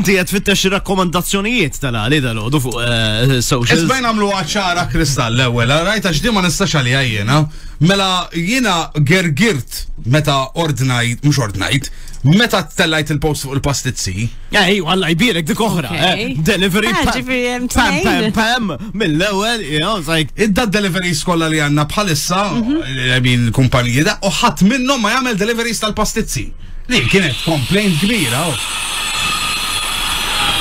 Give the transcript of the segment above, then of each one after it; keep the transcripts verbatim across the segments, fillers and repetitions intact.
Inti qed tfittex rakkomandazzjonijiet tal-għali dal-għodu fuq eh, socials. Isbejn għamlu ċara kristall l-ewwel, rajt għax di ma nistax għalija jiena. Mela jiena gergirt meta ordnajt, mhux ordnajt, meta tellajt il-post fuq il-pastizzi. Ej, Alla jbierek dik oħra. Okay. eh, Delivery Ah, pam, ġifieri hemm pam, pam, tnejn. pam, mill-ewwel, you know, it's like, Idda deliveries kollha li għandna bħalissa, I mean, kumpaniji da, u ħadd minnhom ma jagħmel deliveries tal-pastizzi. Li kienet complaint kbira. oh.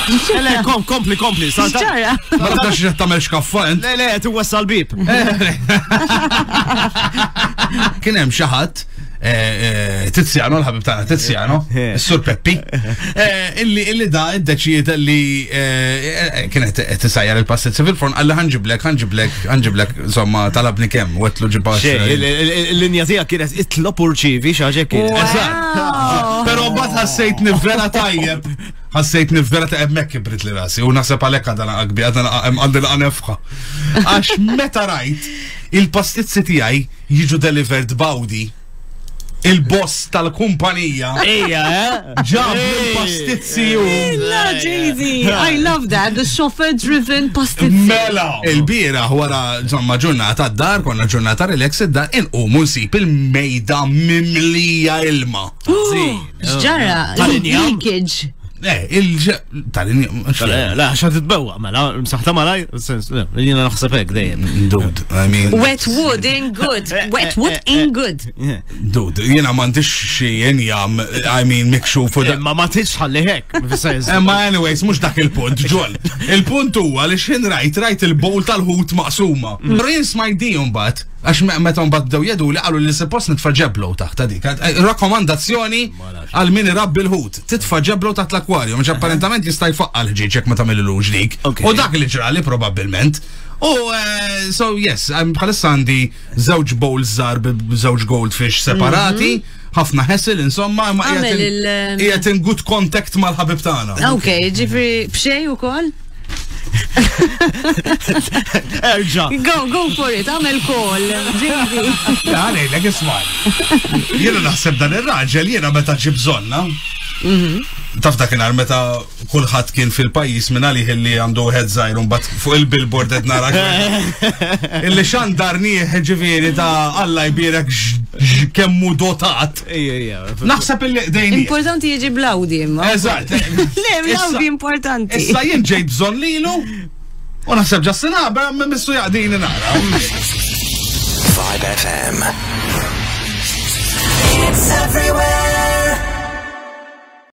Le, kom, kompli, kompli. Salta- X'ġara? Ma tafx qed tagħmel xkaffa int. Le, le, qed iwassal bib. Kien hemm xi ħadd eh, eh, Tiziano, l-ħabib tagħna Tiziano, is-Sur Peppi, eh, illi illi da iddeċieda li eh, eh, kienet qed tisajjar il-pastizzi fil-forn qalli ħa nġiblek, ħa nġiblek, ħa nġiblek, insomma talabni kemm, u għedtlu ġibha. Xej, il- il- il- il-linja tiegħek kienet itlob u rċivi xi ħaġa kienet. Eżatt. Però mbagħad ħassejtni vera tajjeb. Ħassejtni vera tajjeb hemmhekk kibrit li rasi u naħseb għalhekk għadha għakbi għadha għandi laqa nefħa. Għax meta rajt il-pastizzi tiegħi jiġu delivered b'Audi il-boss tal-kumpanija Ejja, eh? ġab il-pastizzi u La, Jay-Z, I love that. The chauffeur-driven pastizzi. Mela! Il-bieraħ wara insomma ġurnata d-dar, konna ġurnata relax id-dar, inqumu nsib il-mejda mimlija ilma. X'ġara? Tal-injam. Leakage. Eh, il tal-injam. Le, Le, għax titbewwa, mela, msaħta malaj, sens, le, jiena naħseb hekk dejjem. Dude, I mean, Wet wood ain't good. Wet wood ain't good. dude, jiena m'għandix xi injam, I mean, mikxuf u da. Imma ma tix ħalli hekk, fis-sens. Imma anyways, mhux dak il-punt, ġol. Il-punt huwa li x'ħin rajt, rajt il-bowl tal-ħut maqsuma. Però jien smajt di mbagħad, għax me- meta mbagħad bdew jedu li qalu li suppost nitfa' ġeblo taħt dik. Eh, Rakkomandazzjoni għal min irabbi l-ħut. Titfa' ġeblo taħt l-akwarju, mhux apparentament jista' jfaqqa l-ħġieġ jekk ma tagħmilux dik. Okay. U dak li ġrali probabbilment. U eh, so yes, I'm bħalissa għandi żewġ bowls żgħar b'żewġ goldfish separati, ħafna hassle insomma, ma Għamel qiegħed in- il- qiegħed in good contact mal-ħabib tagħna. Ok, ġifieri b'xejn ukoll? Erġa. Go, go for it, għamel call. Jay-Z. Għalejlek isma'. Jiena naħseb dan ir-raġel jiena meta ġib bżonna. Taf dakinhar meta kulħadd kien fil-pajjiż minn għalih illi għandu head żgħir u mbagħad fuq il-billboard qed nara. Illi xandarnieh ġifieri ta' Alla jbierek x- kemmu dotat. Ejja, ejja. Naħseb illi dejni. Importanti jiġi bl-Audi imma. Eżatt. Le, bl-Audi Issa- importanti. Issa jien ġejt bżonn lilu u naħseb Justin Haber missu jaqdini nara. Vibe F M. It's everywhere.